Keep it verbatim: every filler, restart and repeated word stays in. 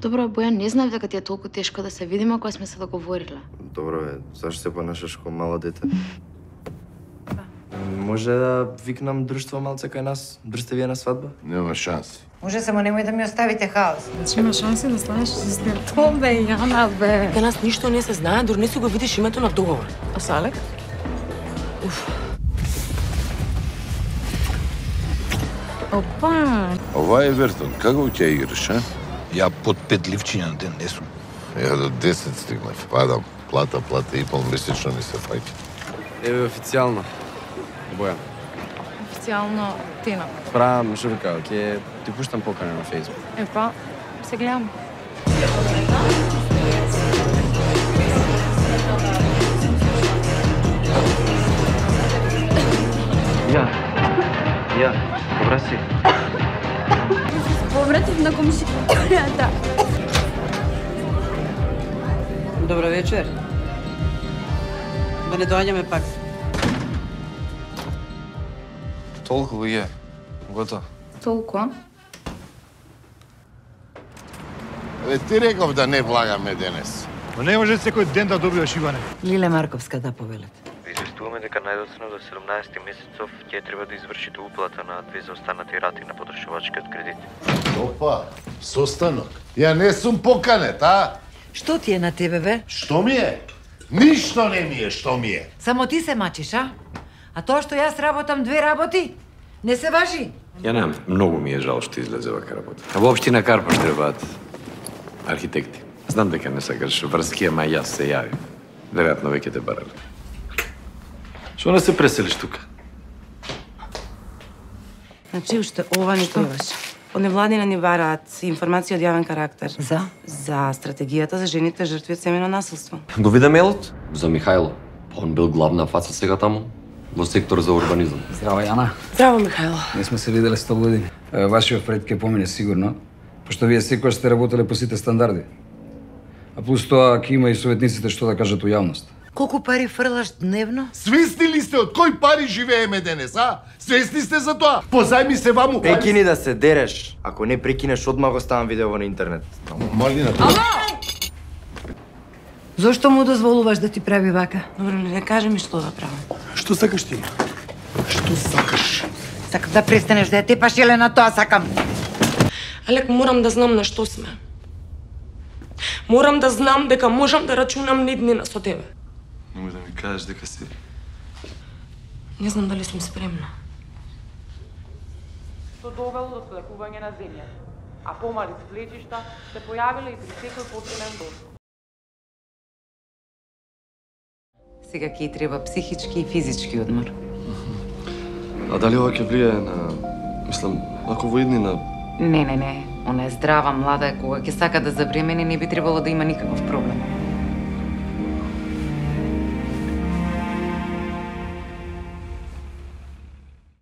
Добро, Бојан, не знам дека ти е толку тешко да се видиме кога сме се договориле. Добро бе, зашто се понашаш како мало дете? Може да викнам друштво малце кај нас? Држте вие на свадба? Нема шанси. Може само немој да ми оставите хаос. Значи има шанси да станеш сестер. То бе, Јана, бе. Кај нас ништо не се знае, дури не си го видиш името на договор. А Салек? Уф. Опа! Ова е Вертон. Како ќе играш, а? Ја под пет ливчиња на ден не сум. Ја до десет стигнав. Падам. Плата, плата и пол месечно ми се фаќа. Еве официјално. Бојан. Официјално Тина. Правам журка, ќе ти пуштам покана на Facebook. Епа, се гледам. Ја. Ја. Добра си. Повратив на комшијата. Добро вечер. Да не доаѓаме пак. Толку луѓе. Готово. Толку, а? Ве ти реков да не влагаме денес. Но не може секој ден да добиваш Иване. Лиле Марковска да повелет. Известуваме дека најдоцна до седумнаесети месецов ќе треба да извршите уплата на две заостанати рати на потрошувачкиот кредит. Опа, состанок. Ја не сум поканет, а? Што ти е на тебе, бе? Што ми е? Ништо не ми е, што ми е. Само ти се мачиш, а? А тоа што јас работам две работи, не се важи. Ја немам, многу ми е жал што излезе вака работа. А во општина Карпаш требаат архитекти. Знам дека не сакаш врски, ама јас се јавим. Веројатно веќе те барали. Што не се преселиш тука? Значи, уште ова не требаш. Од невладина ни бараат информации од јавен карактер. За? За стратегијата за жените жртви од семејно насилство. Го виде мейлот? За Михајло. Он бил главна фаца сега таму, во сектор за урбанизам. Здраво, Јана. Здраво, Михајло. Не сме се виделе сто години. Вашиот пред ке помине сигурно, пошто вие секојаш сте работеле по сите стандарди. А плюс тоа, ќе има и советниците што да кажат у јавност. Колку пари фрлаш дневно? Свесни ли сте од кој пари живееме денес, а? Свесни сте за тоа? Позајми се ваму. Прекини да се дереш. Ако не прекинеш, одма го ставам видео на интернет. Малина. Зошто му дозволуваш да ти прави вака? Добро, не кажи ми што да правам. Што сакаш ти? Што сакаш? Сакам да престанеш да ја тепаш, Елена, тоа сакам. Алек, морам да знам на што сме. Морам да знам дека можам да рачунам неднина со тебе. Немој да ми кажеш дека си... Не знам дали сум спремна. Што довело до свлекување на земја, а помали сплечишта се појавиле и при секој починен дожд. Сега ќе и треба психички и физички одмор. А дали ова ќе влијае на... Мислам, ако во иднина... Не, не, не. Она е здрава, млада е, кога ќе сака да забремени, не би требало да има никаков проблем.